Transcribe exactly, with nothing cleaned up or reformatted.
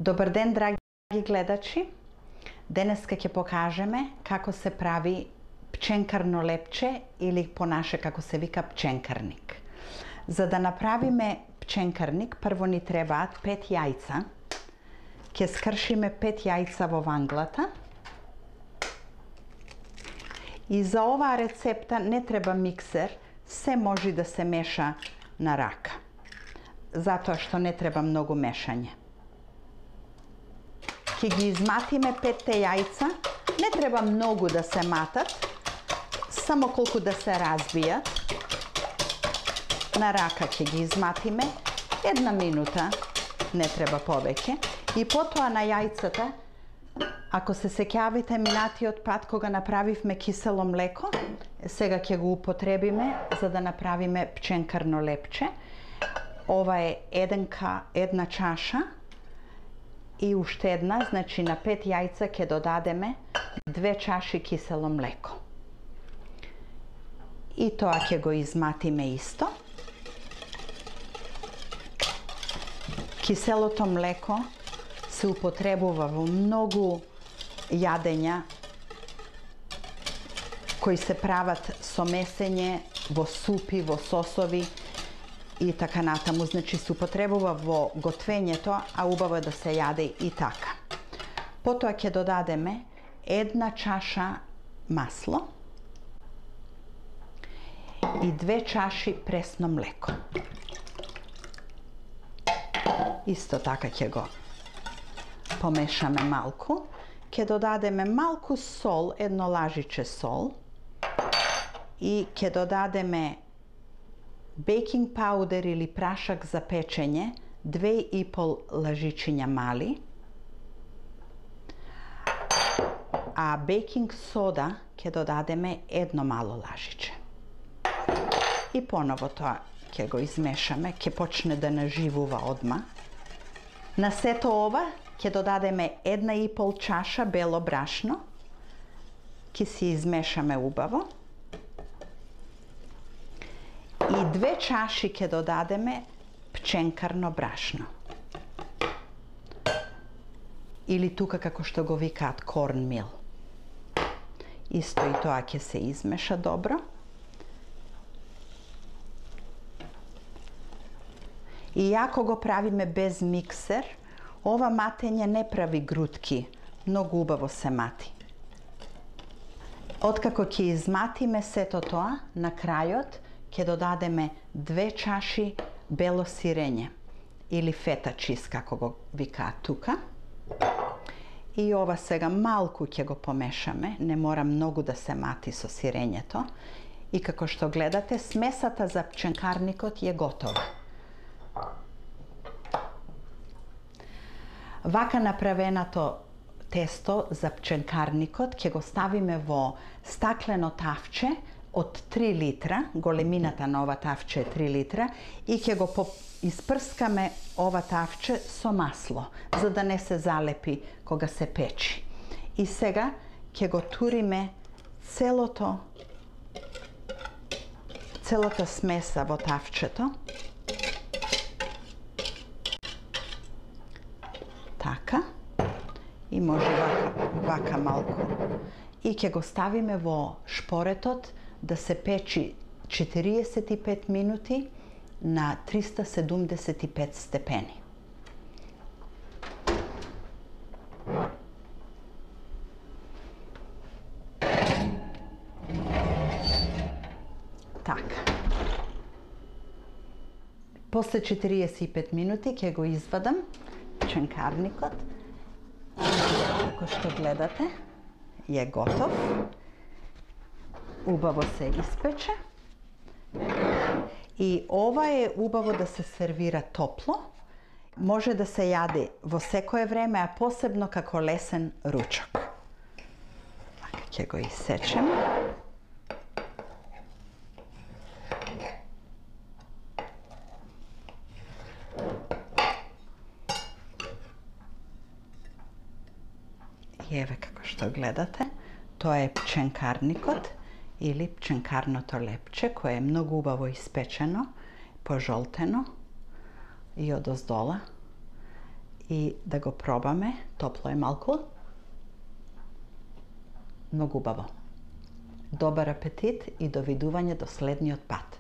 Добар ден, драги гледачи. Денеска ќе покажеме како се прави пченкарно лепче или по наше како се вика пченкарник. За да направиме пченкарник, прво ни требаат пет јајца. Ќе скршиме пет јајца во ванглата. И за оваа рецепта не треба миксер, се може да се меша на рака. Затоа што не треба многу мешање. Ќе ги изматиме петте јајца, не треба многу да се матат, само колку да се разбијат. На рака ќе ги изматиме, една минута, не треба повеќе. И потоа на јајцата, ако се сеќавите минатиот пат кога направивме кисело млеко, сега ќе го употребиме за да направиме пченкарно лепче. Ова е еденка, една чаша и уште една, значи на пет јајца ќе додадеме две чаши кисело млеко. И тоа ќе го изматиме исто. Киселото млеко се употребува во многу јадења кои се прават со месење, во супи, во сосови и така натаму. Значи се употребува во готвењето, а убаво е да се јаде и така. Потоа ќе додадеме една чаша масло и две чаши пресно млеко. Исто така ќе го помешаме малку. Ќе додадеме малку сол, едно лажиче сол. И ќе додадеме бейкинг паудер или прашак за печење, две и пол лажичиња мали. А бейкинг сода ќе додадеме едно мало лажиче. И поново тоа ќе го измешаме, ќе почне да наживува одма. На сето ова ќе додадеме една и пол чаша бело брашно. Ќе си измешаме убаво. И две чаши ќе додадеме пченкарно брашно. Или тука како што го викаат корнмил. Исто и тоа ќе се измеша добро. И ако го правиме без миксер, ова матење не прави грудки, многу убаво се мати. Откако ќе изматиме сето тоа, на крајот ќе додадеме две чаши бело сирење или фета чиз, како го викаат тука. И ова сега малку ќе го помешаме, не мора многу да се мати со сирењето. И како што гледате, смесата за пченкарникот е готова. Вака направеното тесто за пченкарникот ќе го ставиме во стаклено тавче од три литра, големината на ова тавче е три литра, и ќе го испрскаме ова тавче со масло, за да не се залепи кога се печи. И сега ќе го туриме целото целата смеса во тавчето. Така. И може вака, вака малку. И ќе го ставиме во шпоретот да се печи четириесет и пет минути на триста седумдесет и пет степени. Така. После четириесет и пет минути ќе го извадам пченкарникот. Како што гледате, е готов. Убаво се испече. И ова е убаво да се сервира топло. Може да се јаде во секое време, а посебно како лесен ручок. Така ќе го исечеме. И еве како што гледате, тоа е пченкарникот или пченкарното лепче, кое е многу убаво испечено, пожолтено и одоздола. и да го пробаме. Топло е малку. Многу убаво. Добар апетит и довидување до следниот пат.